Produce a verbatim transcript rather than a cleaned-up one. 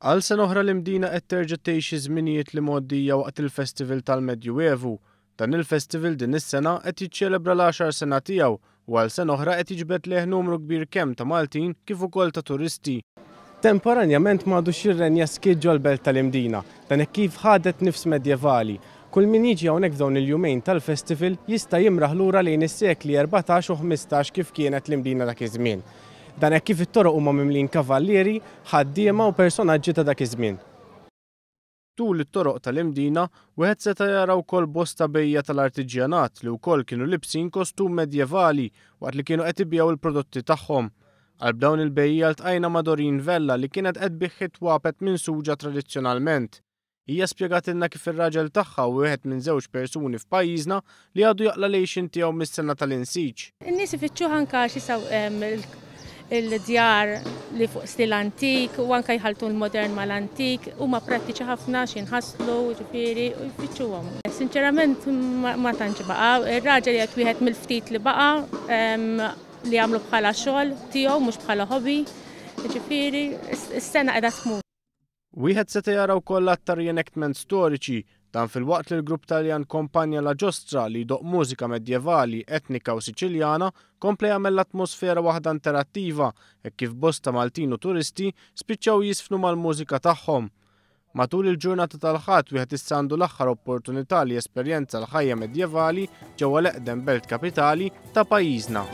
Għal sena oħra l-Imdina qed terġa' tgħix iż-żminijiet l-imgħoddija waqt il-Festival tal-Medjuevu. Dan il-festival din is-sena qed jiċċelebra l-għaxar sena tiegħu u għal sena oħra qed jiġbed lejh numru kbir kemm ta' Maltin kif ukoll ta' turisti. Temporanjament m'għadux jirrenja skiet ġol-belt tal-Imdina, dan hekk kif ħadet nifs medjevali. Kull min jiġi hawnhekk f'dawn il-jumejn tal-festival jista' jimraħ lura lejn is-sekli erbatax u ħmistax kif kienet l-Imdina dak iż-żmien. Dan hekk kif it-toroq huma mimlin kavallieri, ħaddiema u personaġġi ta' dak iż-żmien. Tul it-toroq tal-Imdina, wieħed seta' jara wkoll bosta bejjiegħa tal-artiġjanat li wkoll kienu libsin kostum medjevali waqt li kienu qed ibigħu l-prodotti tagħhom. Qalb dawn il-bejjiegħa ltqajna ma' Doreen Vella li kienet qed tbigħ it-twapet minsuġa tradizzjonalment. Hija spjegatilna kif ir-raġel tagħha hu wieħed minn żewġ persuni f'pajjiżna li għadu jaqla' l-għixien tiegħu mis-sena tal-insiġ. In-nies ifittxuh anke għax jisaw il-djar li fuq stil antik u anke jħaltu l-modern mal-antik, huma prattiċi ħafna x'inħasslu, ġifieri, u jfittxuhom. Sinċerament ma tantx baqa', ir-raġel jgħid wieħed mill-ftit li baqa' li jagħmlu bħala xogħol tiegħu mhux bħala hobby, ġifieri s-sena qiegħda tmur. Wieħed seta' jara wkoll aktar reenactment storiċi, dan filwaqt li l-grupp Taljan Compagnia La Giostra li jdoqq mużika medjevali, etnika u Siċiljana kompla jagħmel l-atmosfera waħda interattiva hekk kif bosta Maltin u turisti spiċċaw jiżfnu mal-mużika tagħhom. Matul il-ġurnata tal-Ħadd wieħed issa għandu l-aħħar opportunità li jesperjenza l-ħajja medjevali ġewwa l-eqdem belt kapitali ta' pajjiżna.